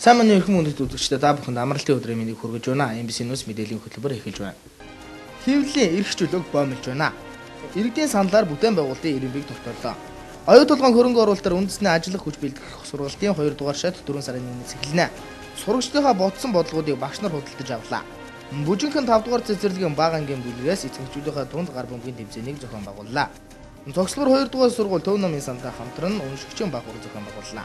Сайн мэндийн эрхэм хүндэт үзэгчдээ та бүхэнд амралтын өдрийн мэндийг хүргэж байна. MBC News мэдээллийн хөтөлбөр эхэлж байна. Хэвлэлийн эрх чөлөөг боомлж байна. Иргэдийн саналаар бүтээн байгуулалтын ирэмбийг тогтоолоо. Оюу толгойн хөрөнгө оруулалтаар үндэсний ажиллах хүч бэлтгэх сургалтын 2 дугаар шат 4 сарын 1-ээс эхэлнэ. Сурагчдынхаа бодсон бодлогуудыг багш нар худалдаж авлаа. Бүжинхэн 5 дугаар цэцэрлэгийн бага ангийн бүлгээс эцэгчүүдийнхээ дунд гар бөмбөгийн тэмцээнийг зохион байгууллаа. Цогцлбор 2 дугаар сургууль Төв номын сантай хамтран уншигчийн баг ур зохион байгууллаа.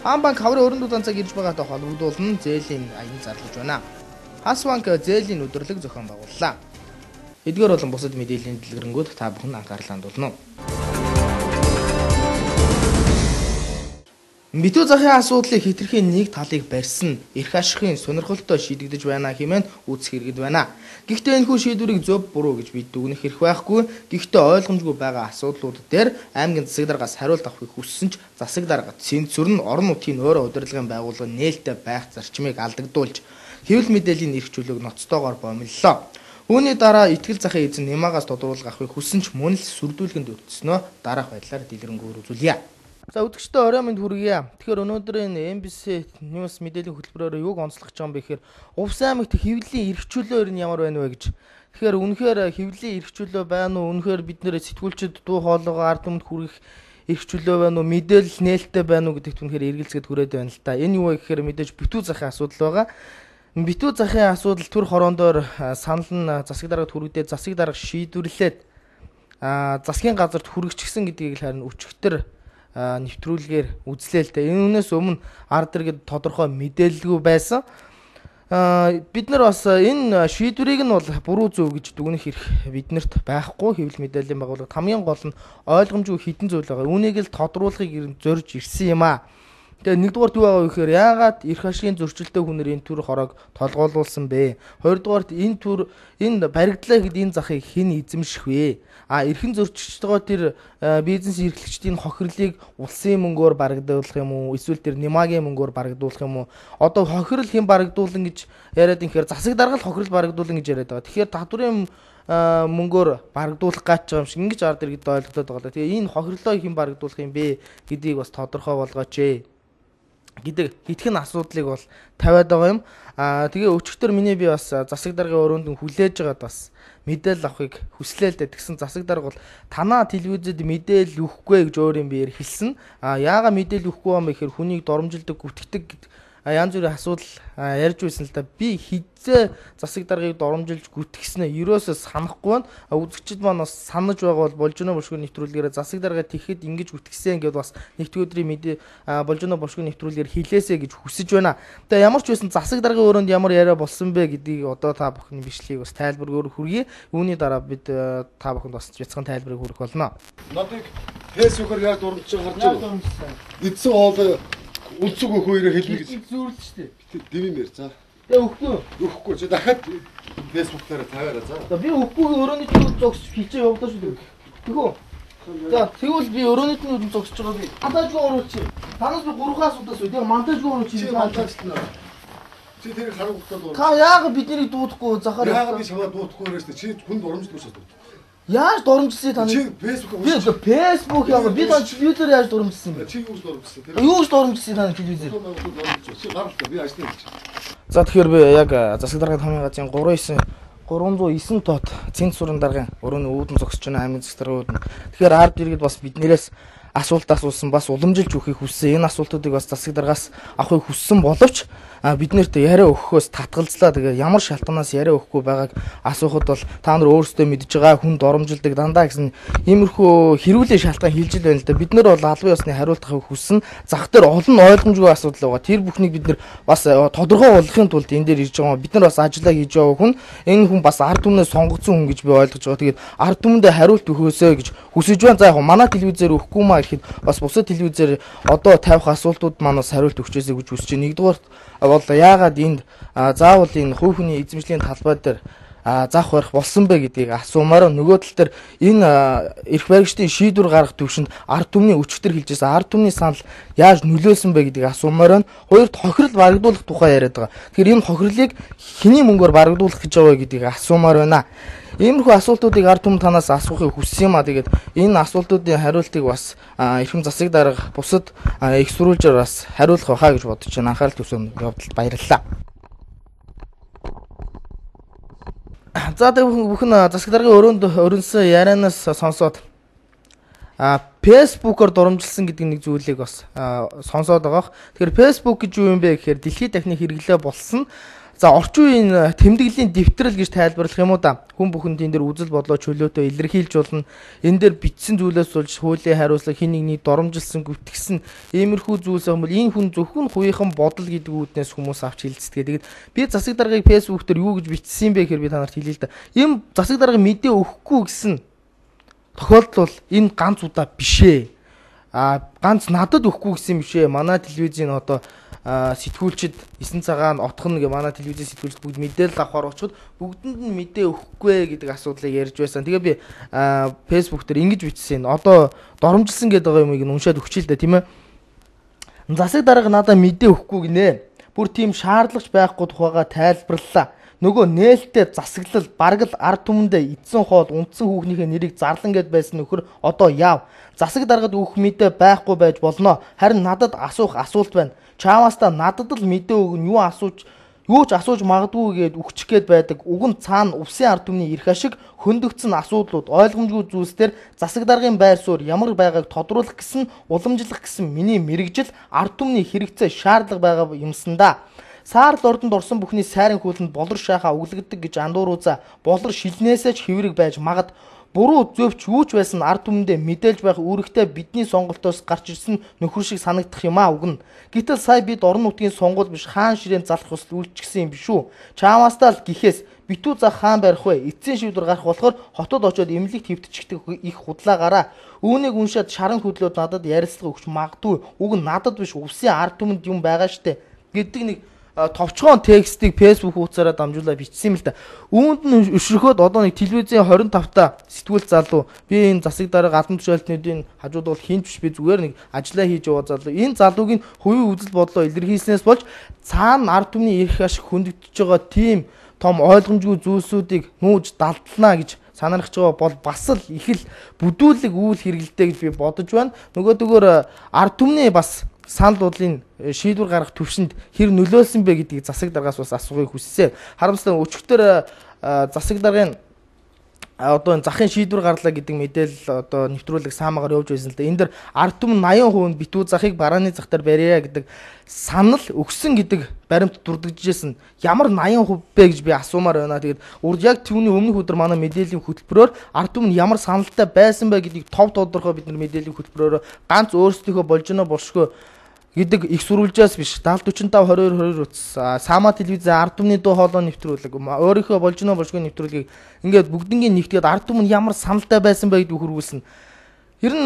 Хамбанк хаврын өрөнд удаанцаг ирж байгаатай холбогдуулан зээлийн аян зарлаж байна. Хасбанк зээлийн өдрлөг зохион байгууллаа. Эдгээр болон бусад мэдээллийн дэлгэрэнүүд та бүхэн анхаарлаа хандуулна. Битүү захын асуудлыг хэтэрхийн нэг талыг барьсан эрх ашигын сонирхолтой шийдэгдэж байна хэмээн үзэх хэрэгэд байна. Гэхдээ энэхүү шийдвэрийг зөв буруу гэж бид дүгнэх хэрэг байхгүй. Гэхдээ ойлгомжгүй байгаа асуудлууд дээр аймгийн засаг даргаас хариулт авахыг хүссэн ч засаг дарга цензур нь орон нутгийн өөрөө удирдлагын байгууллага нээлттэй байх зарчмыг алдагдуулж хэвлэл мэдээллийн эрх чөлөөг ноцтойгоор боомллоо. Үүний дараа итгэл захын эзэн Нямагаас тодруулга авахыг хүссэн ч мөн л сүрдүүлгэнд өртснөө дараах байдлаар дэлгэрэнгүй үзүүлье. За үзэгчдээ орой минь хүргье. Тэгэхээр өнөөдрийн MBC News мэдээллийн хөтөлбөрөөр юуг онцлох гэж байгаа юм бэ гэхээр Увс аймагт хэвлэлийн эрх чөлөө нь ямар байна вэ гэж. Тэгэхээр үнэхээр хэвлэлийн эрх чөлөө байна уу? Үнэхээр бид нэр сэтгүүлчид дуу хоолойгоо ард түмэнд хүргэх эрх чөлөө байна уу? Мэдээлэл нээлттэй байна уу гэдэгт үнэхээр эргэлзгээд хүрээд байна л та. Энэ юу вэ гэхээр мэдээж битүү захын асуудал байгаа. Битүү захын асуудал төр хороондоор санал нь засаг даргад хүргдээд засаг дарга шийдвэрлээд засгийн газарт хүргэчихсэн гэдгийг харин өчигдөр нэвтрүүлгээр үзлээ л дээ. Энэс өмнө ард иргэд тодорхой мэдээлэлгүй байсан. Бид нар бас энэ шийдвэрийг нь бол буруу зөв гэж дүгнэх эрх биднэрт байхгүй. Хэвлэл мэдээллийн байгууллагад хамгийн гол нь ойлгомжгүй хідэн зүйл байгаа. Үүнийг л тодруулахыг зорж ирсэн юм аа. Тэгээ нэгдүгээрт юу байгаа вэ гэхээр яагаад эрх ашигын зөрчилтэй хүнээр энэ төр хороог толгойлуулсан бэ? Хоёрдугаарт энэ баригдлаа гэд энэ захыг хэн эзэмших вэ? Эрхэн зөрчиж байгаа тэр бизнес эрхлэгчдийн хохирлыг улсын мөнгөөр барагдуулах юм уу? Эсвэл тэр Нямагийн мөнгөөр барагдуулах юм уу? Одоо хохирол хэн барагдуулна гэж яриад инхээр засаг дарга л хохирол барагдуулна гэж яриад байгаа. Тэгэхээр татврын мөнгөөр барагдуулах гэж байгаа юм шиг ингэж ард иргэд ойлгоод байгаа. Тэгээ энэ хохирлоо хэн барагдуулах юм бэ гэдгийг бас тодорхой болгооч ээ гэдэг хитгэн асуудлыг бол тавиад байгаа юм. Тэгээ өчигдөр миний би бас засаг даргын өрөөнд хүлээж байгаад бас мэдээлэл авахыг хүслээ л дээ. Тэгсэн засаг дарга бол танаа телевизэд мэдээлэл өгөхгүй гэж өөр юм биеэр хэлсэн. Яагаад мэдээлэл өгөхгүй юм бэ гэхээр хүнийг доромжилдог, гүтгэдэг янз бүрийн асуудал ярьж байсан л да. Би хизээ засаг даргаыг доромжилж гүтгэснээ ерөөсөө санахгүй байна. Үзэгчид маань бас санаж байгаа бол Болжино бошгүй нэвтрүүлгээр засаг даргаа тэгэхэд ингэж гүтгэсэн гэдээ бас нэгдүгээр өдрийн мэдээ Болжино бошгүй нэвтрүүлгээр хэлээсэ гэж хүсэж байна. Тэгээ ямар ч байсан засаг даргын өрөөнд ямар яриа болсон бэ гэдгийг одоо та бүхний бичлэгийг бас тайлбаргаар хүргэе. Үүний дараа бид та бүхэнд бас бяцхан тайлбарыг хүргэх болно. Надыг фэйсбүүкээр яг дурамж харж байгаа. Эдсэн хоол үлцэг өгөхөөрөө хэлнэ гэж зүүрлээ шүү дээ. Дэмээр за. Тэгээ өгөхгүй. Чи дахиад фэйсбүүк дээр тавиараа за. За би өгөхгүй өрөөний төлөв зогсож хилчээ явуулаа шүү дээ. Тэгвэл. За тэгвэл би өрөөний төлөв зогсож байгаа би. Монтажгүй оруулах чи. Танаас би 3 асуудаас үү. Тэгээ монтажгүй оруулах чи. Монтажтна. Чи тэрийг харагдахгүй дуу. Та яагаад биднийг дуудахгүй захаар яагаад би чамаа дуудахгүй өрөөс чи хүнд урамжлах шээ. Яаж дурамжлсан та? Чи фэйсбүүк би фэйсбүүк яа би та телевизээр яаж дурамжлсан бэ? Чи юу дурамжлсан? Юу дурамжлсан та телевизээр? Чи гаралтай би ажлын хэлж. За тэгэхээр би яг засаг даргын хамын газрын 309 тот цензурын даргын өрөөний үүдэн зогсож байна аймгийн засаг даргын үүдэн. Тэгэхээр ард иргэд бас биднээс асуулт асуусан бас уламжилж өгөхийг хүссэн. Энэ асуултуудыг бас засаг даргаас авахыг хүссэн боловч бид нэрт яриа өгөхөөс татгалзлаа. Тэгээ ямар шалтгаанаас яриа өгөхгүй байгааг асуухад бол та нар өөрсдөө мэдж байгаа хүн доромжилдог дандаа гэсэн иймэрхүү хэрүүлийн шалтгаан хэлж ил байна л да. Бид нар бол албан ёсны хариулт авахыг хүссэн. Зах дээр олон ойлгомжгүй асуудал байгаа. Тэр бүхнийг бид нар бас тодорхой болгохын тулд энэ дээр ирж байгаа. Бид нар бас ажиллаа хийж байгаа хүн. Энэ хүн бас ард түмнээс сонгогдсон хүн гэж би ойлгож байгаа. Тэгээд ард түмэндээ хариулт өгөөсэй гэж хүсэж байна. За яг манай телевизээр өгөхгүй маа гэхэд бас бусад телевизээр одоо тавих асуултууд манаас хариулт өгчээсэй гэж хүсэж байна. Нэгдүгээр бол яагаад энд заавал энэ хувь хүний эзэмшлийн талбай дээр заах барих болсон бэ гэдгийг асуумаар нөгөө тал дээр энэ эрх баригчдын шийдвэр гаргах төвшөнд ард түмний өчигдөр хэлжсэн ард түмний санал яаж нөлөөлсөн бэ гэдгийг асуумаар хоёрт хохирол барагдуулах тухай яриад байгаа. Тэгэхээр энэ хохирлыг хэний мөнгөөр барагдуулах гэж байгаа гэдгийг асуумаар байна. Иймэрхүү асуултуудыг ард түмэн танаас асуухыг хүссэн юм а. Тэгээд энэ асуултуудын хариултыг бас эрхэм засаг дарга бусад их сурвалжаар бас хариулах байхаа гэж бодож байна. Анхаарал төвсөн явдалд баярлалаа. За бүхэн засаг даргын өрнсөн ярианаас сонсоод Facebook-оор дурамжилсан гэдэг нэг зүйлийг бас сонсоод байгаа. Тэгэхээр Facebook гэж юу юм бэ гэхээр дэлхийд дахны хэрэглээ болсон. За орчин үеийн тэмдэглэлийн дэвтрэл гэж тайлбарлах юм уу да. Хүн бүхэнд энэ дэр үзэл бодлоо чөлөөтэй илэрхийлж болно. Энэ дэр бичсэн зүйлээс болж хуулийн хариуцлага хин нэгний доромжилсан гүтгэсэн иймэрхүү зүйлс юм бол энэ хүн зөвхөн хувийнхан бодол гэдэг үүднээс хүмүүс авч хилцдэг. Тэгээд би засаг даргыг Facebook дээр юу гэж бичсэн бэ гэхээр би та нарт хэлье л да. Ийм засаг дарга мэдээ өгөхгүй гэсэн тохиолдол бол энэ ганц удаа биш ээ. Ганц надад өгөхгүй гэсэн юм шээ. Манай телевизийн одоо сэтгүүлчид 9 цагаан отхон гэ манай телевизийн сэтгүүлчид бүгд мэдээлэл авахар очиход бүгдэнд нь мэдээ өгөхгүй гэдэг асуудлыг ярьж байсан. Тэгээ би Facebook дээр ингэж бичсэн. Одоо доромжилсан гэдэг байгаа юмыг уншаад өгчээ л да тийм ээ. Засаг дарга надад мэдээ өгөхгүй гинэ. Бүр тийм шаардлагач байхгүй тухайга тайлбарлалаа. Нөгөө нээлттэй засаглал бараг л ард түмэндээ эдсэн хоол унтсан хүүхнийхээ нэрийг зарлан гэд байсан нөхөр одоо яав. Засаг даргад өгөх мэдээ байхгүй байж болно. Харин надад асуух асуулт байна. Чааваас та надад л мэдээ өгнө юу ч асууж магадгүй гэд өгчих гээд байдаг. Уг нь цаана увсын ард түмний эрх ашиг хөндөгдсөн асуудлууд ойлгомжгүй зүйлсээр засаг даргын байр суурь ямар байгааг тодруулах гэсэн уламжлах гэсэн миний мэрэгжил ард түмний хэрэгцээ шаардлага байгаа юмсан да. Саарл ордонд орсон бүхний сайрын хөлөнд болор шахаа өглөгддөг гэж андууруудаа болор шилнээсээ ч хэврэг байж магад буруу зөвч юу ч байсан ард түмэндээ мэдээлж байх үүрэгтэй бидний сонголтоос гарч ирсэн нөхөр шиг санагдах юм а үгэн. Гэтэл сая бид орон нутгийн сонгуул биш хаан ширээн залах хүсэл үйлчгсэн юм биш үү? Чаамаастаа л гэхээс битүү за хаан барих вэ? Эцсийн шийдвэр гарах болохоор хотод очиод эмнэлэг твтчихдэг их худлаагаараа үүнийг уншаад шаран хөдлөөд надад ярилцлага өгч магадгүй. Уг нь надад биш увсын ард түмэнд юм байгаа штэ гэдэг нэг товчхон текстийг Facebook хуудасаараа дамжуулаад бичсэн юм л да. Үүнд нь өшрөхөд одоо нэг телевизийн 25-та сэтгүүл залуу би энэ засаг дарга албан тушаалтнуудын хажууд бол хинч биш би зүгээр нэг ажиллаа хийж яваа залуу. Энэ залууг нь хувийн үзэл бодлоо илэрхийлснээс болж цаана ард түмний эрх ашиг хөндөгдөж байгаа тийм том ойлгомжгүй зүйлсүүдийг нүүж далдлана гэж санаарч байгаа бол бас л их л бүдүүлэг үйл хэрэгэлтэй гэж би бодож байна. Нөгөөдөгөөр ард түмний бас санал бодлын шийдвэр гаргах төвшөнд хэр нөлөөлсөн бэ гэдгийг засаг даргаас бас асуухыг хүссэн. Харамсалтай өчигдөр засаг даргын одоо захын шийдвэр гарлаа гэдэг мэдээлэл одоо нэвтрүүлэг саамагаар явж байсан л да. Энд дэр ард түмэн 80% битүү захыг барааны зах дээр барья гэдэг санал өгсөн гэдэг баримт дурдгажсэн. Ямар 80% бэ гэж би асуумаар байна. Тэгээд урд яг түүний өмнөх өдөр манай мэдээллийн хөтөлбөрөөр ард түмэн ямар саналтай байсан бэ гэдгийг тов тодорхой бид нар мэдээллийн хөтөлбөрөөр ганц өөрсдийнхөө болж гэнэ болшгүй гэдэг их сурвалжаас биш 70 45 22 утас саама телевизийн ард түмний дуу хоолой нэвтрүүлэг өөрийнхөө болж гэнэ болшгүй нэвтрүүлгийг ингээд бүгднгийн нэгтгээд ард түмэн ямар саналтай байсан бэ гэдгийг хөрвүүлсэн. Ер нь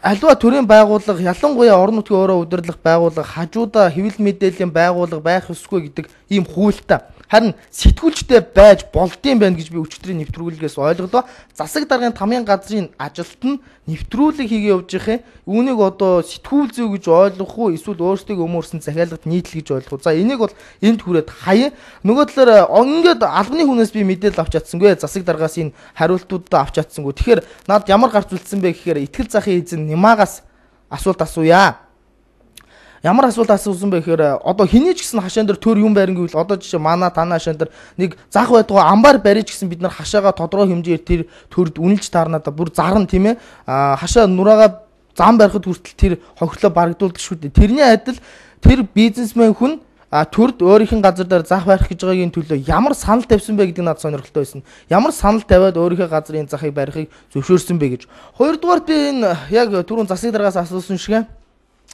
аливаа төрийн байгууллага ялангуяа орон нутгийн өөрөө удирдлах байгууллага хажуудаа хэвлэл мэдээллийн байгууллага байх ёсгүй гэдэг ийм хуультай. Харин сэтгүүлчтэй байж болдсон байх гэж би өчигдрийн нэвтрүүлгээс ойлголоо. Засаг даргын тамийн газрын ажилт нь нэвтрүүлэг хийгээ явж байгаа. Үүнийг одоо сэтгүүл зүй гэж ойлгох уу эсвэл өөрсдөө өмөрсөн захиалгад нийтлэл гэж ойлгох уу. За энийг бол энд хүрээд хаяа. Нөгөө талаар ингээд албаны хүнээс би мэдээлэл авч чадсангүй. Засаг даргаас энэ хариултуудаа авч чадсангүй. Тэгэхээр над ямар гарч үлдсэн бэ гэхээр итгэл захын эзэн Нимагаас асуулт асууя. Ямар асуулт асуусан бэ гэхээр одоо хэний ч гэсэн хашаан дээр төр юм байран гэвэл одоо жишээ манай танаа хашаан дээр нэг зах байдгаа амбар барьж гэсэн бид нар хашаага тодорхой хэмжээр тэр төрд үнэлж таарнаа да бүр зарна тийм ээ хашаа нураага зам барихад хүртэл тэр хохирлоо барагдуулдаг шүү дээ. Тэрний адил тэр бизнесмен хүн төрд өөрийнх нь газар дээр зах барих гэж байгаагийн төлөө ямар санал тавьсан бэ гэдэг надад сонирхолтой байсан. Ямар санал тавиад өөрийнхөө газрын захыг барихыг зөвшөөрсөн бэ гэж. Хоёрдугаар би энэ яг түрүүн засаг даргаас асуусан шиг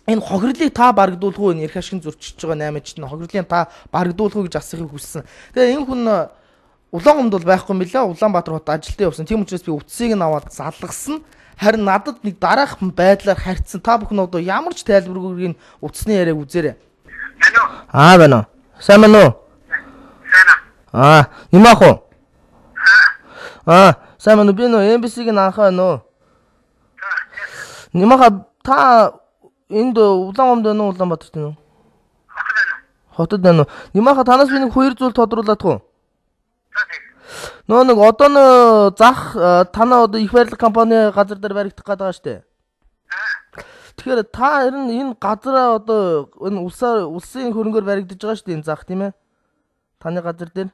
энэ хохирлыг та барагдуулах уу энэ эрх ашиг зөрчиж байгаа 8 чинь хохирлын та барагдуулах уу гэж асуухыг хүссэн. Тэгээ энэ хүн Улаангомд бол байхгүй юм билээ. Улаанбаатар хот ажилтаа явсан. Тийм учраас би утсыг нь аваад залгасан. Харин надад нэг дараах байдлаар харьцсан. Та бүхэн одоо ямар ч тайлбаргүйг утасны яриаг үзээрэй. Байна уу? Сайн байна уу? Сайн. Нимах уу? сайн байна уу? Би нөө MBC-ийн анхаа нөө. Нимаха та энд Улаанбаатарт байна уу? Улаанбаатарт байна уу? Хотод байна уу? Нимаха танаас би нэг хоёр зүйл тодруулах уу? Нэг одоо нэг зах танаа одоо их барилга компани газар дээр баригдах гээд байгаа штэ. Тэгэхээр та энэ газараа одоо энэ улсын хөрөнгөөр баригдаж байгаа штэ энэ зах тийм ээ? Таны газар дээр.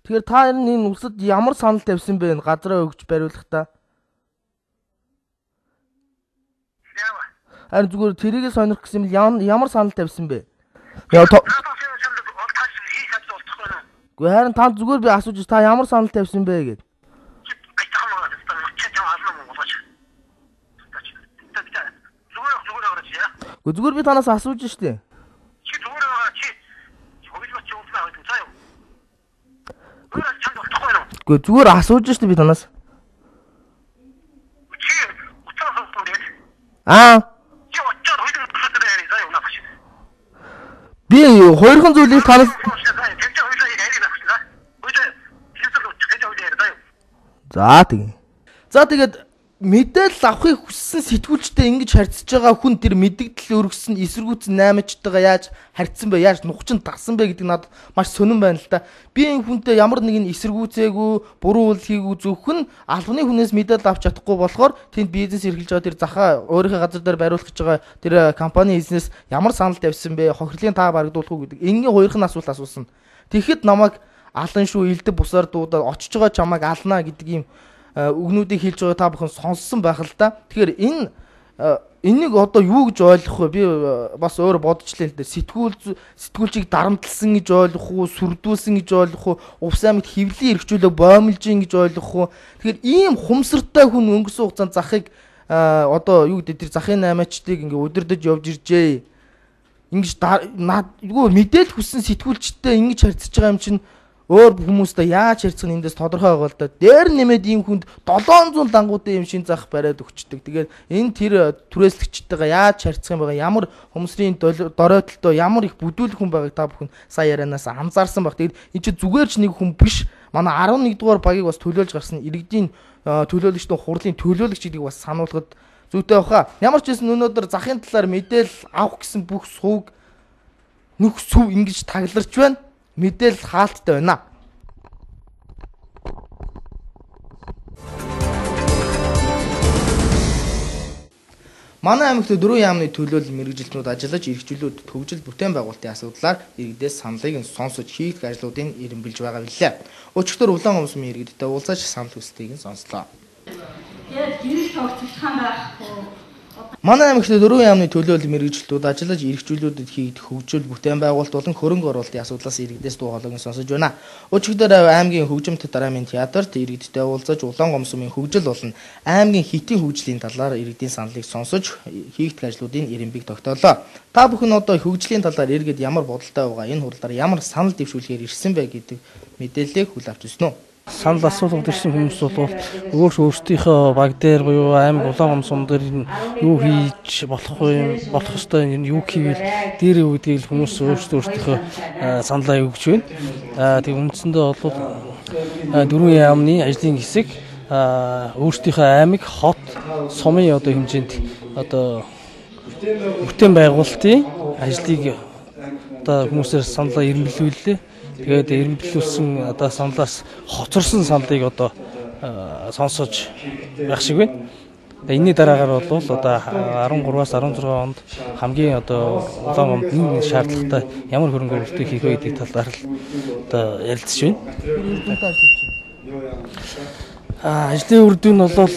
Тэгэхээр та энэ улсад ямар санал тавьсан бэ энэ газараа өгч бариулахдаа? Харин зүгээр тэрийгээ сонирх гэсэн юм ямар санал тавьсан бэ? Харин та зүгээр би асууж та ямар санал тавьсан бэ гэд. Зүгээр би танаас асууж штэ. Зүгээр асууж штэ би танаас. Би хоёрхан зүйлийг танаас За тэгээд мэдээлэл авахыг хүссэн сэтгүүлчтэй ингэж харьцаж байгаа хүн тэр мэдээлэл өргөсөн эсэргүүцэн 8-чтайгаа яаж харьцсан бэ? Яаж нухчин тагсан бэ гэдэг надад маш сонирн байна л да. Би энэ хүнтэй ямар нэгэн эсэргүүцээгүй, буруу үйл хийгээгүй зөвхөн албаны хүнээс мэдээлэл авч чадахгүй болохоор тэнд бизнес эрхэлж байгаа тэр захаа өөрийнхөө газар дээр бариулах гэж байгаа тэр компани эзнес ямар санал тавьсан бэ? Хохирлын таа барагдуулах уу гэдэг. Энгийн хоёрхан асуулт асуусан. Тэгэхэд намайг алан шүү, элдв бусаар дуудаад очиж байгаа чамайг алнаа гэдэг юм үгнүүдийг хэлж байгаа та бүхэн сонссон байх л да. Тэгэхээр энийг одоо юу гэж ойлгох вэ? Би бас өөр бодчихлээ л дээ. Сэтгүүлчийг дарамтлсан гэж ойлгох уу, сүрдүүлсэн гэж ойлгох уу, Увс аймагт хэвлэлийн эрхчлөлөө боомлж ин гэж ойлгох уу? Тэгэхээр ийм хумсартай хүн өнгөрсөн хугацаанд захыг одоо юу гэдэг тэр захын 8-чтыг ингээ удирдах явж иржээ. Ингэж мэдээлэл хүссэн сэтгүүлчтэй ингэж харьцаж байгаа юм чинь өөр хүмүүстэй яаж харьцах нь эндээс тодорхой байгаа л да. Дээр нэмээд ийм хүнд 700 дангуудын юм шин зах бариад өгчдөг. Тэгээд энэ тэр түрээслэгчтэйгээ яаж харьцах юм байгаа, ямар хөмсрийн доройтолтой, ямар их бүдүүлэх хүн байгааг та бүхэн сая ярианаас анзаарсан баг. Тэгээд энэ чи зүгээр ч нэг хүн биш. Манай 11 дугаар багийг бас төлөөлж гарсан иргэдийн төлөөлөгчдийн хурлын төлөөлөгч гэдгийг бас сануулгад зүйтэй баха. Ямар ч гэсэн өнөөдөр захын талаар мэдээлэл авах гэсэн бүх сувг нүх сүв ингэж тагларч байна. Мэдээлэл хаалттай байна. Манай аймагт 4 яамны төлөөлөл мэргэжилтнүүд ажиллаж эрхчлүүд төвжил бүтээн байгуулалтын асуудлаар иргэдээс саналыг сонсож хийх ажлуудыг эренбэлж байгаа билээ. Өчигдөр Улаанбаатар иргэдтэй уулзаж санал хүслийг сонслоо. Тэгээд гэрэл тогтолцоон байхгүй. Манай аймагт 4 яамны төлөөлөл мэргэжилтүүд ажиллаж эрхчлүүдэд хийгдэх хөгжил бүтээн байгуулалт болон хөрөнгө оруулалтын асуудлаас иргэдээс дуу хоолойг сонсож байна. Өчигдөр аймгийн хөгжимт дараамын театрт иргэдтэй уулзаж Улаангомсумын хөгжил болон аймгийн хитийн хөгжлийн талаар иргэдийн саналыг сонсож хийгдэх ажлуудын эренбийг тогтоолоо. Та бүхэн одоо хөгжлийн талаар иргэд ямар бодолтой байгаа, энэ хурлаар ямар санал дэвшүүлэхээр ирсэн бэ гэдэг мэдээллийг хүлээн авч ирсэн үү? Санал асуулгад ирсэн хүмүүс бол өөрсдийнхөө баг дээр буюу аймаг Улаангомсум дээр юу хийж болох ёстой юу хийвэл дээр юу гэдгийг хүмүүс өөрсдийнхөө саналаа өгч байна. Тэг үндсэндээ бол 4 яамны ажлын хэсэг өөрсдийнхөө аймаг, хот, сумын одоо хэмжээнд одоо бүтээн байгуулалтын ажлыг одоо хүмүүсээр саналаа ирмэлүүллээ. Тэгээд эренбэлүүлсэн одоо саналаас хоцорсон саналыг одоо сонсож байх шиг байна. Энэний дараагаар бол одоо 13-аас 16 онд хамгийн одоо Улаангомд нэг шаардлагатай ямар хөрөнгө оруулалт хийх вэ гэдэг талаар л одоо ярилцж байна. Ажлын үр дүн бол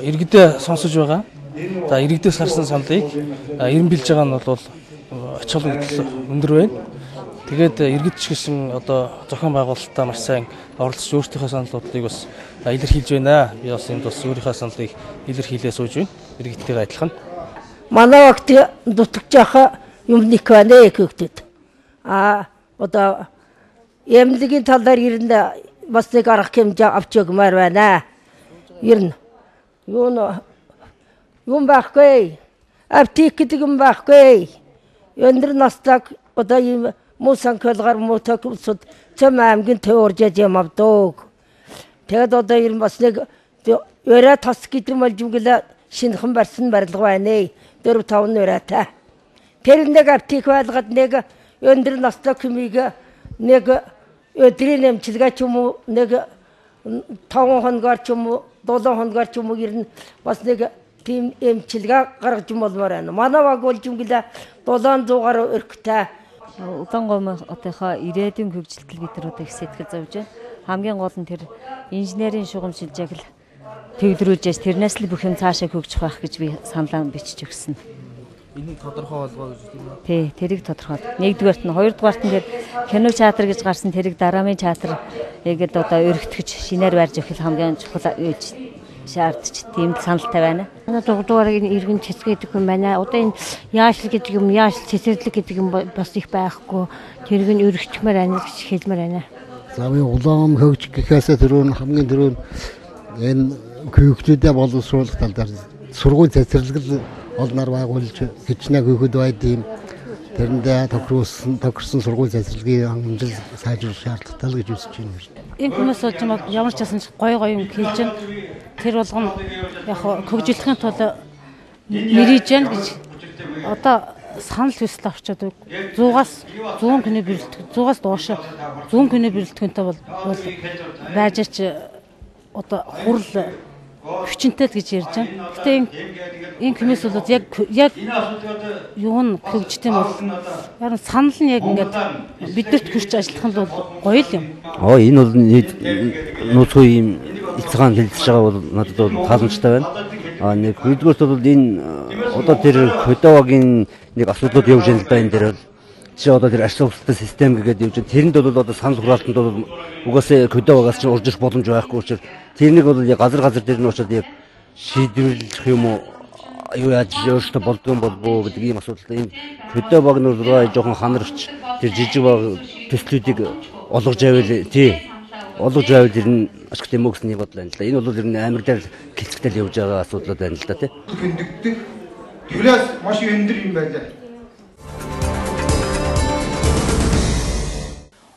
иргэдээ сонсож байгаа. За иргэдээс харсан саналыг эренбэлж байгаа нь бол ач холбогдол өндөр байна. Тэгээд иргэд ч гэсэн одоо зохион байгуулалтаа маш сайн оролцож өөрсдийнхөө санал бодлыг бас илэрхийлж байна. Би бас энд бас өөрийнхөө саналыг илэрхийлээ сууж байна. Иргэдтэйгээ адилхан. Манай огт дутагч яха юм нэг байна гэхдээ одоо эмнэлгийн талаар ирэнд бас нэг арга хэмжээ авч өгмөр байна. Ирнэ. Юм байхгүй. Аптек гэдэг юм байхгүй. Өндөр настаг одоо ийм санкөлгөр мотоксууд цэм аймгийн төв уржаад юм авдаг. Тэгээд одоо ер нь бас нэг өрөө тас гэдэг юм болж үгэлээ шинэхэн барьсан барилга байна. 4-5 өрөөтэй. Тэр нэг аптек байлгаад нэг өндөр настай хүмийг нэг өдрийн эмчилгээ ч юм уу нэг 5 хоногор ч юм уу 7 хоногор ч юм уу ер нь бас нэг тийм эмчилгээ гаргаж болмоор байна. Манай баг болж үгэлээ 700 гаруй өрхтэй. Улаангомынхоо ирээдүйн хөгжилтөл бид нар одоо их сэтгэл зовж байна. Хамгийн гол нь тэр инженерийн шугам шилжээг л төвлөрүүлж тэрнээс л бүх юм цаашаа хөгжих байх гэж би саналаа бичиж өгсөн. Энийг тодорхой болгоо гэж тийм үү? Тий, тэрийг тодорхой. Нэгдүгээрт нь, хоёрдугаарт нь тэр кино театр гэж гарсан тэрийг дараамын театр гэдэг одоо өргөтгөж шинээр барьж өгөх хамгийн чухал гэж шаардж тийм саналтай байна. Манай дугдуурыг иргэн цэцэг гэдэг юм байна. Одоо энэ яашл гэдэг юм, яашл цэцэрлэг гэдэг юм бас их байхгүй. Тэрийг нь өргөчмөр байна гэж хэлмээр байна. За би улаан хөгжих гэхээс түрүүн хамгийн түрүүн энэ хүүхдүүдэд боловсруулах тал дээр сургууль цэцэрлэг олноор байгуулж хичнээн хүүхэд байдığım тэрэндээ тохирсон сургууль цэцэрлэгийн хангамжил сайжруулах шаардлагатай гэж үзэж байна. Энэ хүмүүс болж ямар ч байсан гоё юм хийж байна. Тэр болгоно яг хөгжүүлэхийн тулд мэрэж байна гэж одоо санал хүсэл авчаад 100-аас 100 кино бэлтгэх 100-аас доош 100 кино бэлтгэхтэй бол байжаач одоо хурал хүчнтэй гэж ярьж байна. Гэтэ энэ хүмүүс бол яг юу н хөгжтэй бол яг санал нь яг ингээд бидэрт хүрч ажиллах нь бол гоё л юм. Энэ бол нууцгүй юм эцгаан хэлж байгаа бол надад бол тааланчтай байна. Нэг хоёрдугаарт бол энэ одоо тэр Кодовагийн нэг асуудлууд явж байгаа л байна дээр бол чи одоо тэр ашиглалттай систем гэдэг явж байгаа. Тэрэнд бол одоо санал хураалтанд бол угаасаа Кодовагаас ч урж ирэх боломж байхгүй учраас тэрнийг бол яг газар дээр нь очоод яг шийдвэрлэх юм уу юу яаж өөртөө болдгоо болбоо гэдэг ийм асуудалтай энэ Кодоваг нь жоохон ханарч тэр жижиг баг төслүүдийг олгож авъя тий олгож байвал ер нь ашигтай юм уу гэсэн нэг бодлоо байна л да. Энэ бол ер нь амар дээр гэлцэгтэй явж байгаа асуудлууд байна л да тий. Хөндөгдөх. Тэрээс маш өндөр юм байлаа.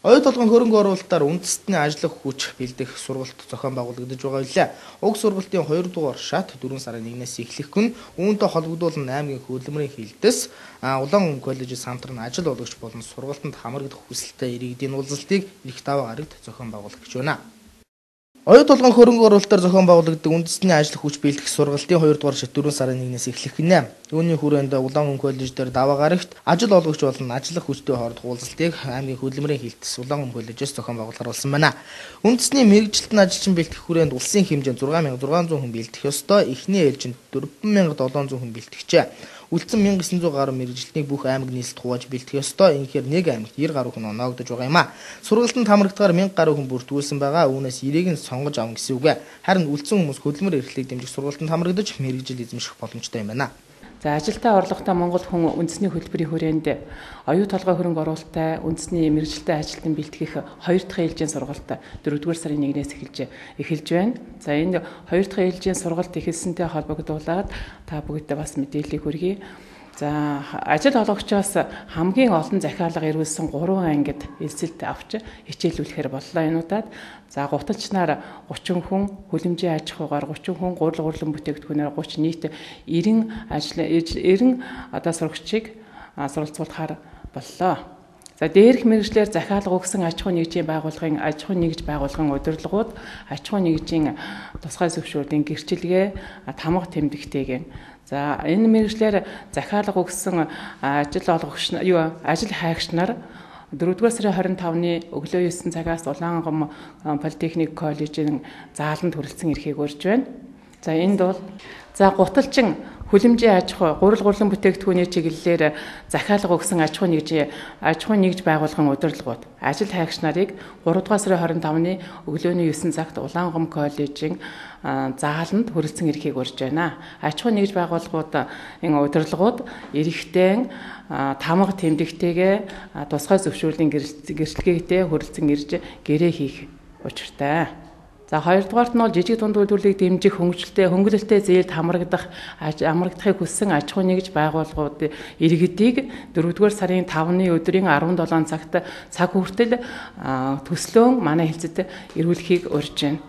Оюу толгойн хөрөнгө оруулалтаар үндэстний ажиллах хүч бэлдэх сургалт зохион байгуулагдаж байгаа билээ. Уг сургалтын 2 дугаар шат 4 сарын 1-ээс эхлэх gün үүнтэй холбогдуулан аймгийн хөдөлмөрийн хилдэс Улаан коллежид самтран ажил олгогч болон сургалтанд хамрагдах хүсэлтэй иргэдийн уулзалтыг эрх даваа гарагт зохион байгуулах гэж байна. Оюу толгойн хөрөнгө оруулалтаар зохион байгуулагддаг үндэстний ажил хүч бэлдэх сургалтын 2 дугаар шат 4 сарын 1-ээс эхлэх гинэ. Үүний хүрээнд Улаан коллеж дээр даваа гарагт ажил олгогч болон ажиллах хүчтэй хоорондох уулзалтыг аймгийн хөдөлмөрийн хилдэс Улаан коллежээс зохион байгуулахар болсон байна. Үндэсний мэргэжилтэн ажилчин бэлтгэх хүрээнд улсын хэмжээнд 6600 хүн бэлтгэх ёстой. Эхний ээлжинд 4700 хүн бэлтгэжээ. Үлдсэн 1900 гаруй мэргэжилтнийг бүх аймаг нийслэлд хувааж бэлтгэх ёстой. Ингэхээр нэг аймагт 90 гаруй хүн оноогдож байгаа юм а. Сургалтанд хамрагдахаар 1000 гаруй хүн бүртгүүлсэн байгаа. Үүнээс 90-ийг нь сонгож авна гэсэн үг. Харин үлдсэн хүмүүс хөдөлмөр эрхлэлийг дэмжих сургалтанд хамрагдаж мэргэжил эзэмших боломжтой юм байна. За ажилтаа орлоготой Монгол хүн үндэсний хөтөлбөрийн хүрээнд оюу толгой хөрөнгө оруулалттай үндэсний мэргэжилтэй ажилтан бэлтгэх 2 дахь ээлжийн сургалт 4-р сарын 1-ээс эхэлж байна. За энэ 2 дахь ээлжийн сургалт эхэлсэнтэй холбогдуулаад та бүгдээ бас мэдээллийг хүргэе. За ажил олгогчоос хамгийн олон захиалга ирүүлсэн 3 ангид элсэлт авч хичээлүүлэхээр боллоо энүүдад. За гуталчнаар 30 хүн, хүлэмжийн аж ахуйгаар 30 хүн, гурилан бүтээгдэхүүнээр 30 нийт 90 одоо сурагчийг суралцуулахаар боллоо. За дээрх мэргэжлэр захиалга өгсөн аж ахуй нэгжийн байгууллагын аж ахуй нэгж байгууллагын удирдлагууд аж ахуй нэгжийн тусгай зөвшөөрлийн гэрчилгээ тамга тэмдэгтэйгэн. За энэ мэргэжлэр захиалга өгсөн ажил олгогч ажил хайгч нар 4-р сарын 25-ны өглөө 9 цагаас Улаангом политехник коллежийн зааланд хүрэлцэн эрхийг урьж байна. За энд бол гуталчин хүлэмжийн аж ахуй, гурилан бүтээгдэхүүний чиглэлээр захиалга өгсөн аж ахуй нэгж байгууллагын удирдлагууд ажил хайгч нарыг 3-р сарын 25-ны өглөөний 9 цагт Улаангом коллежийн зааланд хүрэлцэн эрхийг урьж байна. Аж ахуй нэгж байгууллагууд энэ удирдлагууд эрэгтэй тамга тэмдэгтэйгээ тусгай зөвшөөрлийн гэрчлэгээтэй хүрэлцэн ирж гэрээ хийх учиртай. За хоёрдугаарт нь бол жижиг дунд үйлдвэрлэлийг дэмжих хөнгөлөлттэй зээлд амрагдахыг хүссэн аж ахуй нэгж байгууллагууд иргэдийг 4-р сарын 5-ны өдрийн 17 цагт цаг хүртэл төслөөн манай хэлцэд ирүүлэхийг урьж байна.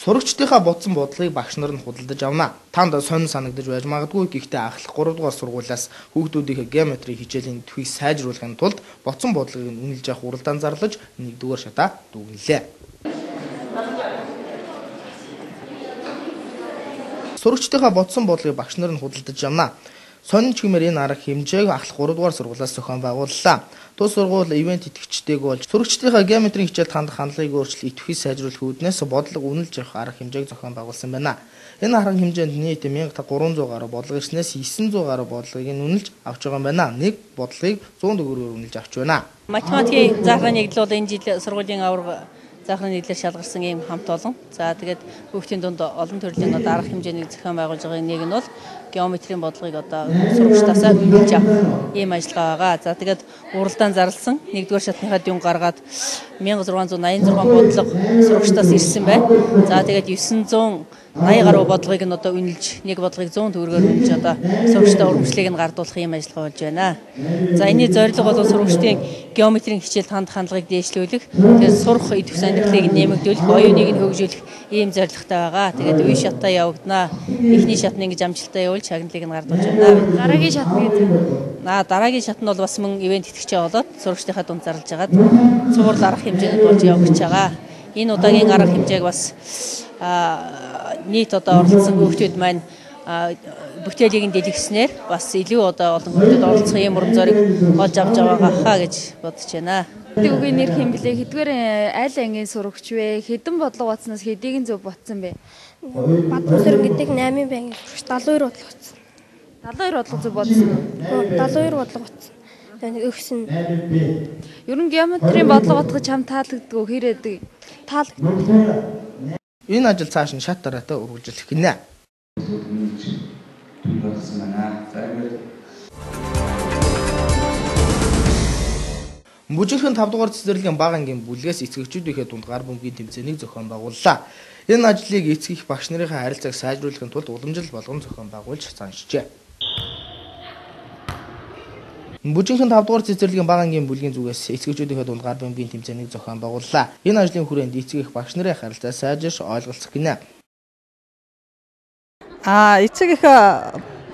Сурагчдынхаа бодсон бодлогыг багш нар нь худалдаж авна. Танд сонин санагдаж байж магадгүй, гэхдээ анхлах 3 дугаар сургуулиас хүүхдүүдийнхээ геометри хичээлийн төвийг сайжруулахын тулд бодсон бодлогыг үнэлж авах уралдаан зарлаж 1-р шатаа дүгнэлээ. Сурагчдынхаа бодсон бодлогыг багш нар нь худалдаж авна. Сонин чимээр энэ арга хэмжээг анхлах 3 дугаар сургуулиас зохион байгууллаа. Тус сургууль ивент итгэгчтэйг болж сурагчдынхаа геометрийн хичээлд хандах хандлагыг өөрчлөлт идэвхий сайжруулах үүднээс бодлого үнэлж авах арга хэмжээг зохион байгуулсан байна. Энэ арга хэмжээнд нийт 1300 гаруй бодлого ирснээс 900 гаруй бодлогыг үнэлж авч байгаа юм байна. Нэг бодлогыг 100 төгрөгөөр үнэлж авч байна. Математикийн заахны нэгдэл бол энэ жил сургуулийн аварга заахны нийтлэр шалгарсан ийм хамт олон. За тэгээд хүүхдийн дунд олон төрлийн арга хэмжээний зохион байгуулж байгаа нэг нь бол геометрийн бодлогыг сурагчдаасаа үнэлж авах ийм ажиллагаа байгаа. За тэгээд уралдаан зарласан 1-р шатныхаа дүн гаргаад 1686 бодлого сурагчдаас ирсэн байна. За тэгээд 980 гаруй бодлогыг нь үнэлж, нэг бодлогыг 100 төгрөгөөр үнэлж сурагчдаа урамшлыг нь гардуулах ийм ажиллагаа болж байна. За энэний зорилго бол сурагчдын геометрийн хичээлд хандах хандлагыг дээшлүүлэх, тэгээд сурах идэвх сонирхлыг нэмэгдүүлэх, оюуныг нь хөгжүүлэх ийм зорилготой байгаа. Тэгээд үе шатаа явагдана. Эхний шат нь ингэж амжилттай явуул шагналыг нь гардуулж байна. Дараагийн шат нь дараагийн шат нь бол бас мөн ивент итгэгчээ болоод сурагчдынхаа дунд зарлж агаад цуврал арга хэмжээнд болж явагдаж байгаа. Энэ удаагийн арга хэмжээг бас нийт оролцсон хүүхдүүд маань бүтээлийг нь дэлгэснээр бас илүү олон хүүхдүүд оролцох ийм урам зориг олж авч байгаа гэж бодож байна. Үгийн нэр хэм блэ? Хэдгээр аль ангийн сурагч вэ? Хэдэн бодлого батснаас хэдийг нь зөв ботсон бэ? Бадмсэр гэдэг 8 бангийн сурагч 72 бодлого ботсон. 72 бодлого зөв ботсон. 72 бодлого ботсон. Өгсөн. Ер нь геометрийн бодлого ботгож чам таалагддаг хэрэг таалагддаг. Энэ ажил цааш нь шат дараатай үргэлжлэх гинэ. Бүжинхэн 5 дугаар цэцэрлэгийн бага ангийн бүлгээс эцэгчүүдийнхээ дунд гар бөмбөгийн тэмцээнийг зохион байгууллаа. Энэ ажлыг эцэг их багш нарын харилцааг сайжруулахын тулд уламжлал болгон зохион байгуулж заншжээ. Бүжинхэн 5 дугаар цэцэрлэгийн бага ангийн бүлгийн зүгээс эцэгчүүдийнхээ дунд гар бөмбөгийн тэмцээнийг зохион байгууллаа. Энэ ажлын хүрээнд эцэг их багш нарын харилцаа сайжирч ойлголцох гинэ. Эцэг их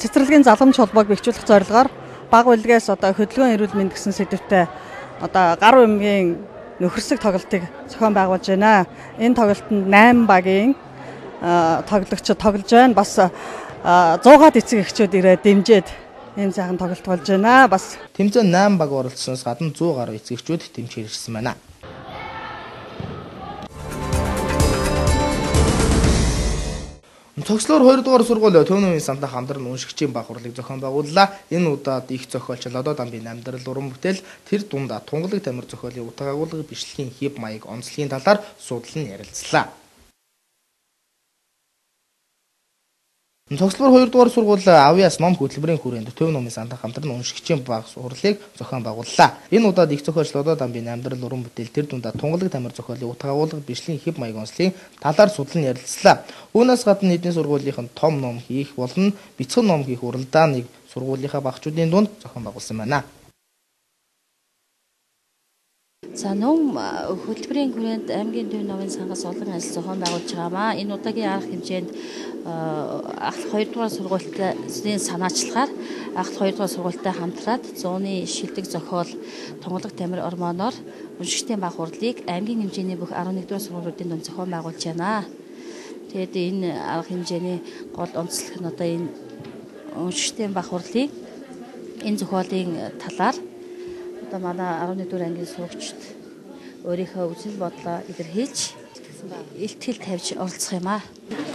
цэцэрлэгийн заламж холбоог бэхжүүлэх зорилгоор бага бүлгээс хөдөлгөөн эрүүл мэнд гэсэн сэдвтэй гар бөмбөгийн нөхөрсөг тоглолтыг зохион байгуулж байна. Энэ тоглолтод 8 багийн тоглогчид тоглож байна. Бас 100-аад эцэг эхчүүд ирээд дэмжиж ийм сайхан тоглолт болж байна. Бас тэмцээнд 8 баг оролцсноос гадна 100 гаруй эцэг эхчүүд дэмжиж ирсэн байна. Цогцлоор 2 дугаар сургууль Төв намын сандаа хамтран уншигчийн баг хурлыг зохион байгууллаа. Энэ удаад их зохиолч Лодо дамбын амьдрал уран бүтээл тэр дундаа тунгалаг тамир зохиолын утга агуулга бичлэгийн хэв маяг онцлогийн талаар судлан ярилцлаа. Цогцлоор 2 дугаар сургууль Авьяас ном хөтөлбөрийн хүрээнд Төв намын сандаа хамтран уншигчийн баг хурлыг зохион байгууллаа. Энэ удаад их зохиолч Лодо дамбын амьдрал уран бүтээл тэр дундаа тунгалаг тамир зохиолын утга агуулга бичлэгийн хэв маяг онцлогийн талаар судлан ярилцлаа. Үүнээс гадна эдийн сургуулийн том ном хийх болон бяцхан ном хийх уралдааныг сургуулийнхаа багчуудын дунд зохион байгуулсан байна. За ном хөтөлбөрийн хүрээнд аймгийн Төв намын сангаас олон ажил зохион байгуулж байгаамаа. Энэ удаагийн арга хэмжээнд ахлах 2 дугаар сургуультай санаачлагаар ахлах 2 дугаар сургуультай хамтраад 100-ны шилдэг зохиол тунгалаг тамир ормоноор уншигчдын баг хурлыг аймгийн хэмжээний бүх 11 дугаар сургуулиудын дунд зохион байгуулж байна. Тэгээд энэ арга хэмжээний гол онцлог нь энэ уншигчдын баг хурлыг энэ зохиолын талаар манай 11 дугаар ангийн сурагчид өөрийнхөө үзэл бодлоо илэрхийлж илтгэл тавьж оролцох юм аа.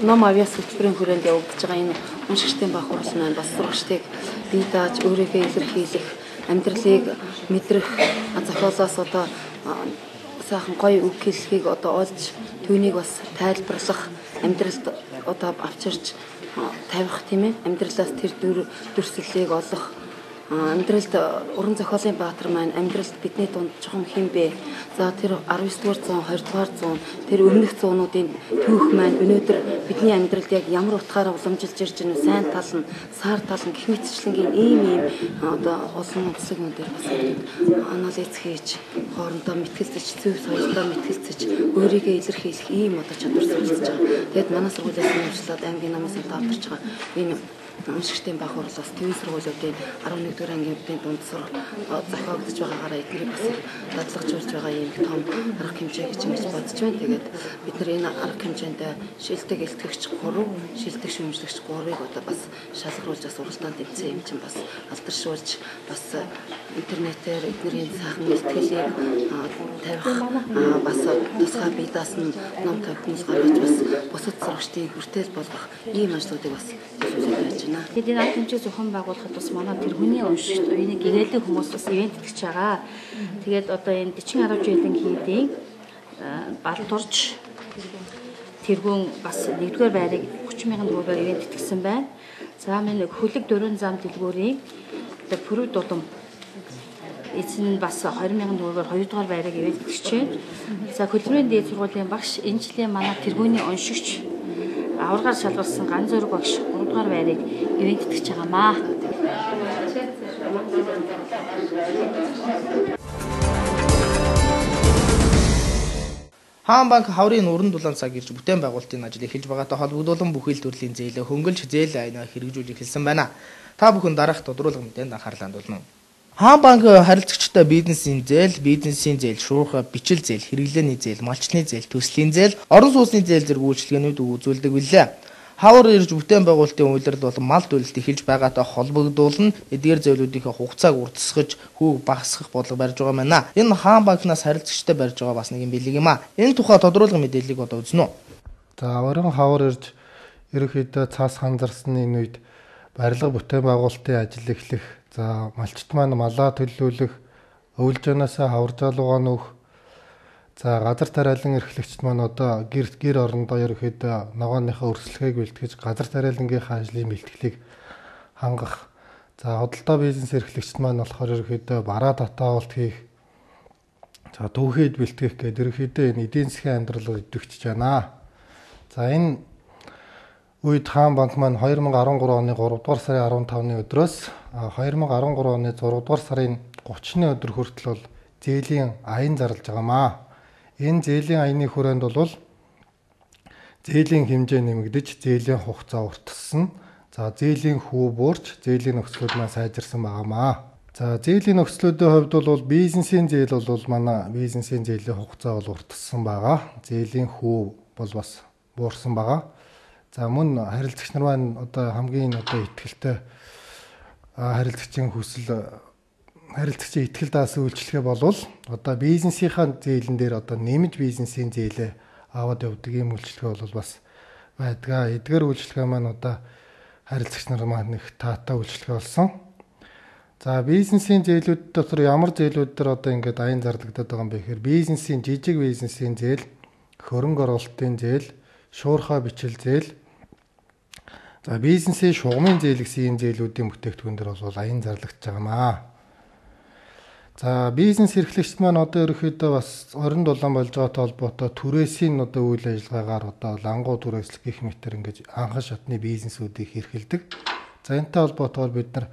Ном Авьяас хөтөлбөрийн хүрээнд явагдаж байгаа энэ уншигчдын баг хурал маань бас сурагчдыг бие дааж өөрийгөө илэрхийлэх, амьдралыг мэдрэх, зохиолоос сайхан гоё үг хэлхийг олж түүнийг бас тайлбарлах, амьдралд авчирч тавих тийм ээ. Амьдралаас тэр дүрслэлийг олох амьдралд уран зохиолын баатар маань амьдралд бидний дунд чухам хэм бэ? За тэр 19-р зуун, 20-р зуун, тэр өмнөх зуунуудын түүх маань өнөөдөр бидний амьдралд яг ямар утгаараа уламжилж ирж байна вэ? Сайн тал нь, сар тал нь гэх мэтчлэнгийн ийм одоо олон онцлог юм дээр бас анализ хийж, хоорондоо мэтгэлцэж, зөв соёлдоо мэтгэлцэж, өөрийгөө илэрхийлэх ийм одоо чадвар суралцж байгаа. Тэгэд манай сургуулиас нэмжлээд аймгийн намын сантаа авдарч байгаа энэ уншигчдын баг хурлаас төвийн сургуулиудын 11-р ангийнхын дунд зохиогдож байгаагаараа эднийг бас дадлагжуулж байгаа юм том арга хэмжээ гэж ингэж бодож байна. Тэгээд бид нар энэ арга хэмжээнд шилдэг илтгэгч 3, шилдэг шүүмжлэгч 3-ыг одоо бас шалгаруулж бас уралдаанд тэмцээн юм чинь бас алдаршуулж бас интернетээр эднэрийн сайхан илтгэлийг тавих бас тусгай бие даасан ном тавих гаргаж бас бусад сурагчдын хүртэл болгох ийм ажлуудыг бас хийж байна. Тэд энэ арга хэмжээ зохион байгуулахад бас манай тэр хүний уншигч энийг гэрээлийн хүмүүс бас ивент итгэж байгаа. Тэгээд одоо энэ 40 10 жилийн хийдийн Балтурж тэргүүн бас 1-р байрыг 30,000 төгрөгөөр ивент итгэсэн байна. За минь хөлөг дөрөн зам дэлгүүрийн одоо Пүрэв дулам эцэн бас 20,000 төгрөгөөр 2-р байрыг ивент итгэж байна. За хөдөлмөрийн дээд сургуулийн багш энэ жилийн манай тэргүүний уншигч аваргаар шалгарсан Ган Зориг багш 3-р байрыг ивент итгэж байгаамаа. Хаан банк хаврын уран дулаан цаг ирж бүтээн байгуулалтын ажил эхэлж байгаатай холбогдуулан бүхэл төрлийн зээлээ хөнгөлж зээл айнаа хэрэгжүүлж эхэлсэн байна. Та бүхэн дараах тодруулга мэдээнд анхаарлаа хандуулна. Хаан банк харилцагчтай бизнесийн зээл, шуурхай, бичил зээл, хэрэглээний зээл, малчны зээл, төслийн зээл, орон сууцны зээл зэрэг үйлчилгээнүүд үзүүлдэг билээ. Хавар ирж бүтээн байгуулалтын үйлрэл бол мал төлөлт эхэлж байгаатай холбогдуулан эдгээр зээлүүдийнхээ хугацааг уртасгаж хүүг багасгах бодлого барьж байгаа байна. Энэ Хаан банкнаас харилцагчтай барьж байгаа бас нэг юм билэг юм аа. Энэ тухай тодруулга мэдээллийг одоо үзнэ үү. За орон хавар ирж ерөнхийдөө цаас ханзарсны энэ үед барилга бүтээн байгуулалтын ажил эхлэх, за малчт маань малаа төлөвлөх, өвлж янаасаа хаваржаалуугаа нөх, за газар тариалан эрхлэгчд маань одоо гэр орондоо ерөнхийдөө ногооныхаа өрсөлдөхийг бэлтгэж газар тариалангийнхаа ажлын бэлтгэлийг хангах. За худалдаа бизнес эрхлэгчд маань болохоор ерөнхийдөө бараа татаавалт хийх, за түүхийд бэлтгэх гэдэг ерөнхийдөө энэ эдийн засгийн амьдрал идэвхжиж байна. За энэ үед Хаан банк маань 2013 оны 3 дугаар сарын 15-ны өдрөөс 2013 оны 6 дугаар сарын 30-ны өдөр хүртэл бол зээлийн аян зарлаж байгаамаа. Энэ зээлийн аяны хүрээнд бол зээлийн хэмжээ нэмэгдэж, зээлийн хугацаа уртассан. За зээлийн хүү буурч, зээлийн нөхцлүүд маань сайжирсан байгаамаа. За зээлийн нөхцлүүдийн хувьд бол бизнесийн зээл бол манай бизнесийн зээлийн хугацаа бол уртассан байгаа. Зээлийн хүү бол бас буурсан байгаа. За мөн харилцагч нар маань одоо хамгийн одоо ихтэй харилцагчийн итгэл даасан үйлчлэгээ болвол одоо бизнесийнхаа зээлэн дээр одоо нэмж бизнесийн зээлээ аваад явдаг юм үйлчлэгээ бол бас байдгаа. Эдгээр үйлчлэгээ маань одоо харилцагч нар маань их таатай үйлчлэгээ болсон. За бизнесийн зээлүүд дотор ямар зээлүүд төр одоо ингээд аян зарлагдаад байгаа юм бэ гэхээр бизнесийн жижиг бизнесийн зээл, хөрөнгө оруулалтын зээл, шуурхай бичил зээл, за бизнесийн шугамын зээл гэсэн ийм зээлүүдийн бүтээгдэхүүн дээр бол аян зарлагдж байгаамаа. За бизнес эрхлэгчд маань одоо ерөөхдөө бас орон дулаан болж байгаатай холбоотой түрээсийн одоо үйл ажиллагаагаар одоо лангуу түрээслэх гэх мэтэр ингэж анхан шатны бизнесүүдийг эрхэлдэг. За энэтэй холбоотойгоор бид нар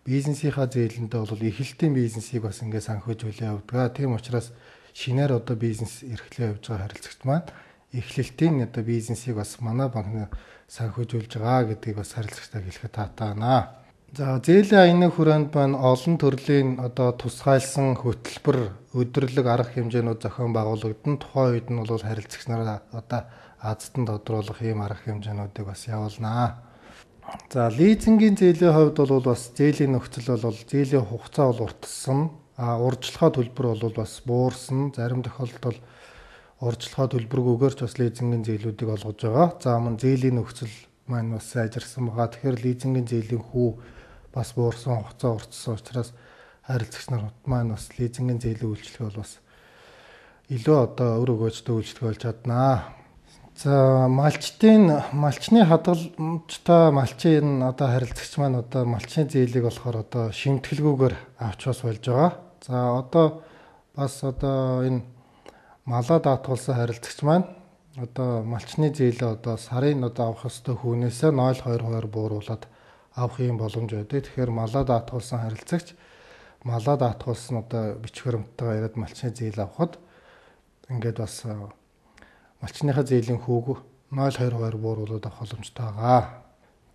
бизнесийнхаа зээлэндээ бол эхлэлтийн бизнесийг бас ингэ санхүүжүүлээ явдаг. Тийм учраас шинээр одоо бизнес эрхлээ явж байгаа харилцагч маань эхлэлтийн одоо бизнесийг бас манай банк санхүүжүүлж байгаа гэдгийг бас харилцагчтай хэлэхэд таатай байна. За зээлийн аяны хүрээнд маань олон төрлийн одоо тусгайлсан хөтөлбөр, өдөрлөг арга хэмжээнүүд зохион байгуулагдсан. Тухайн үед нь бол харилцагч нараа одоо аздан тодруулах ийм арга хэмжээнүүдийг бас явуулнаа. За лизингийн зээлийн хувьд бол бас зээлийн нөхцөл бол зээлийн хугацаа бол уртсан. Урьдчилгаа төлбөр бол бас буурсан. Зарим тохиолдолд урьдчилгаа төлбөргүйгээр ч бас лизингийн зээлүүдийг олгож байгаа. За мөн зээлийн нөхцөл маань бас сайжирсан байгаа. Тэгэхээр лизингийн зээлийн хүү бас буурсан, хугацаа уртсан учраас харилцагч нар маань бас лизингийн зээлийн үйлчлэгээ бол бас илүү одоо өр өгөөжтэй үйлчлэг болж чаднаа. За малчны хадгаламжтай малчин одоо харилцагч маань одоо малчны зээлийг болохоор одоо шимтгэлгүйгээр авч бас болж байгаа. За одоо бас одоо энэ малаа даатгуулсан харилцагч маань одоо малчны зээлээ одоо сарын одоо авах ёстой хүнээсээ 0.22 бууруулад авах юм боломж байдаг. Тэгэхээр малаа даатгуулсан харилцагч малаа даатгуулсан одоо бичиг баримттайгаа ирээд малчны зээл авахад ингээд бас малчныхаа зээлийн хүүг 0.22 бууруулад авах боломжтой байгаа.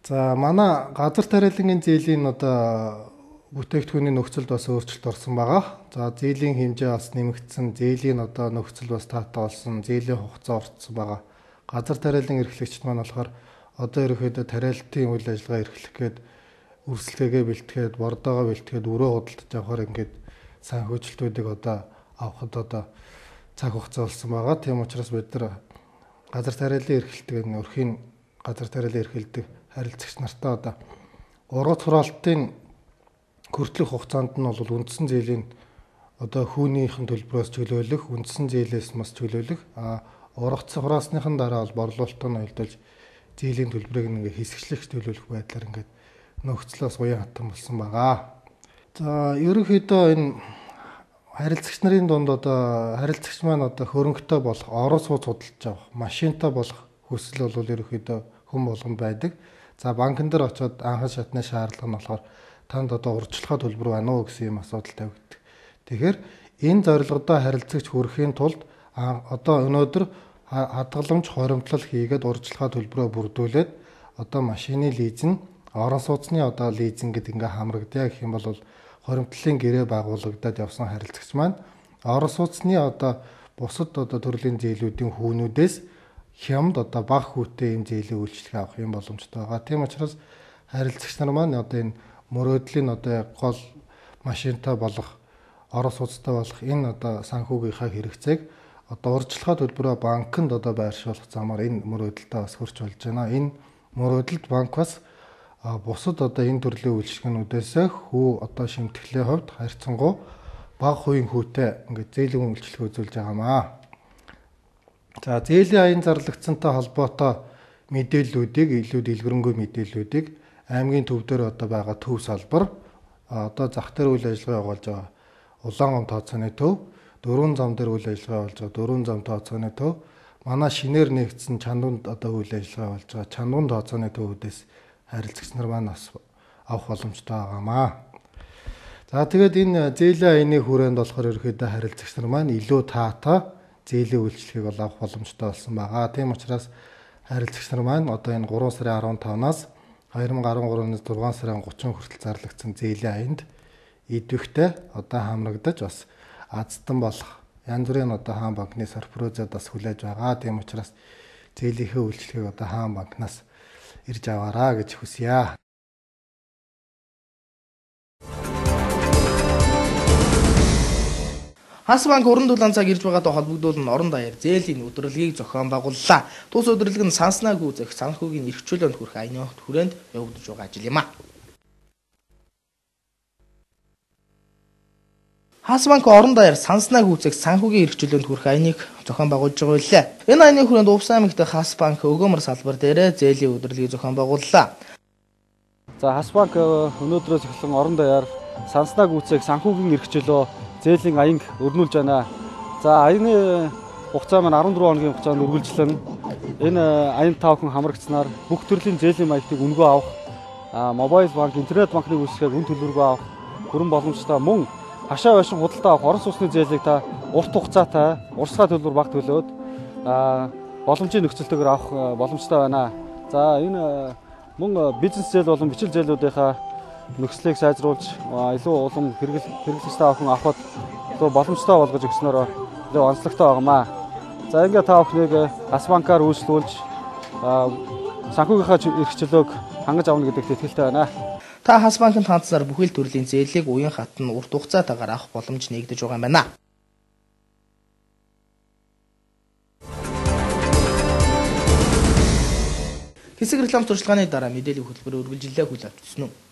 За манай газар тариалангийн зээлийн одоо бүтээгдэхүүний нөхцөлд бас өөрчлөлт орсон байгаа. За зээлийн хэмжээ бас нэмэгдсэн, зээлийн одоо нөхцөл бас таатай болсон, зээлийн хугацаа орцсон байгаа. Газар тариалан эрхлэгчид маань болохоор одоо ерөөхдөө тариалтын үйл ажиллагаа эрхлэх гээд өрсөлдөөгээ бэлтгээд, бордоогоо бэлтгээд өрөө худалдаж авахаар ингээд санхүүжилтүүдийг одоо авахд одоо цаг хугацаа болсон байгаа. Тийм учраас бид нар газар тариалан эрхэлдэг өрхийн газар тариалан эрхэлдэг харилцагч нартаа одоо ургац хураалтын хүртэлх хугацаанд нь бол үндсэн зээлийн одоо хүүнийхэн төлбөрөөс чөлөөлөх, үндсэн зээлээс бас чөлөөлөх, ургац хураасныхан дараа бол борлуулалтаа нөлөөлж зээлийн төлбөрийг ингээ хэсэгчлэх төлөвлөх байдлаар ингээд нөхцлөөс уян хатан болсон байгаа. За ерөнхийдөө энэ харилцагч нарын дунд одоо харилцагч маань одоо хөрөнгөтэй болох, орон сууц худалдаж авах, машинтай болох хүсэл бол ерөнхийдөө хүн болгонд байдаг. За банкн дээр очиод анхан шатны шаардлага нь болохоор танд одоо урьдчилгаа төлбөр байна уу гэсэн юм асуудал тавигддаг. Тэгэхээр энэ зорилгодоо харилцагч хүрэхийн тулд одоо өнөөдөр хадгаламж хоримтлал хийгээд урьдчилгаа төлбөрөө бүрдүүлээд одоо машины лизинг, орон сууцны одоо лизинг гэдэг ингээ хамрагдъя гэх юм бол хоримтлалын гэрээ байгуулагдаад явсан харилцагч маань орон сууцны одоо бусад одоо төрлийн зээлүүдийн хүүнүүдээс хямд одоо бага хүүтэй юм зээлийн үйлчлэгээ авах юм боломжтой байгаа. Тийм учраас харилцагч нар маань одоо энэ мөрөөдлийн одоо гол машинтай болох, орон сууцтай болох энэ одоо санхүүгийнхаа хэрэгцээг одоо урьдчилгаа төлбөрөө банкнд одоо байршуулах замаар энэ мөрөөдөлтөд бас хүрч болж байна. Энэ мөрөөдөлд банк бас бусад одоо энэ төрлийн үйлчлэгнүүдээс хүү одоо шимтгэлийн хувьд харьцангуй бага хувийн хүүтэй ингээд зээлийн үйлчлэг үзүүлж байгаамаа. За зээлийн аян зарлагдсантай холбоотой мэдээллүүдийг илүү дэлгэрэнгүй мэдээллүүдийг аймгийн төв дээр одоо байгаа төв салбар одоо зах дээр үйл ажиллагаа явуулж байгаа Улаангом тооцооны төв, дөрвөн зам дээр үйл ажиллагаа явуулж байгаа дөрвөн зам тооцооны төв, манай шинээр нэгдсэн чандунд одоо үйл ажиллагаа явуулж байгаа чандуун тооцооны төвүүдээс харилцагч нар маань бас авах боломжтой байгаамаа. За тэгээд энэ зээлийн аяны хүрээнд болохоор ерөөхдөө харилцагч нар маань илүү таатай зээлийн үйлчлэгийг авах боломжтой болсон байгаа. Тийм учраас харилцагч нар маань одоо энэ 3 сарын 15-наас 2013-ны 6 сарын 30 хүртэл зарлагдсан зээлийн аянд идэвхтэй одоо хамрагдаж бас азтан болох янз бүрийн одоо хаан банкны сорпрозод бас хүлээж байгаа. Тийм учраас зээлийнхээ үйлчлэгийг одоо хаан банкнаас ирж аваараа гэж хүсье. Хас банк уран дулаан цаг ирж байгаатай холбогдуулан орон даяар зээлийн өдрөлгийг зохион байгууллаа. Тус өдрөлг нь санснаг үзэх санхүүгийн эрхчлөөнд хүрэх аяны хүрээнд явагдаж байгаа ажил юм а. Хас банк орон даяар санснаг үзэх санхүүгийн эрхчлөөнд хүрэх аяныг зохион байгуулж байгаа үлээ. Энэ аяны хүрээнд Увс аймагт Хас банк өгөөмөр салбар дээр зээлийн өдрөлгийг зохион байгууллаа. За Хас банк өнөөдрөөс эхлэн орон даяар санснаг үзэх санхүүгийн эрхчлөө зээлийн аянг өрнүүлж байна. За аяны хугацаа маань 14 хоногийн хугацаанд үргэлжлэн энэ аян тавхан хамрагдсанаар бүх төрлийн зээлийн маягтыг үнэгүй авах, мобайл банк, интернет банкны үйлчлэгийг үн төлбөргүй авах бүрэн боломжтой мөн хашаа байшин худалдаа авах орон сууцны зээлийг та урт хугацаатай, урсгай төлбөр бага төлөөд боломжийн нөхцөлтэйгээр авах боломжтой байна. За энэ мөн бизнес зээл болон бичил зээлүүдийнхаа нөхцөлийг сайжруулж илүү улам хэрэглэгчтэй авахд илүү боломжтой болгож өгснөөр илүү онцлогтой байгаамаа. За ингээд та бүхнийг Хас банкаар үйлчлүүлж санхүүгийнхаа эрхчлөөг хангаж авна гэдэгт итгэлтэй байна. Та Хас банкнд хандсаар бүхэл төрлийн зээлийг уян хатан урт хугацаатайгаар авах боломж нэгдэж байгаа юм байна. Хэсэг реклам туршлагын дараа мэдээллийн хөтөлбөр үргэлжлэлээ хүлээн авчихсан нь.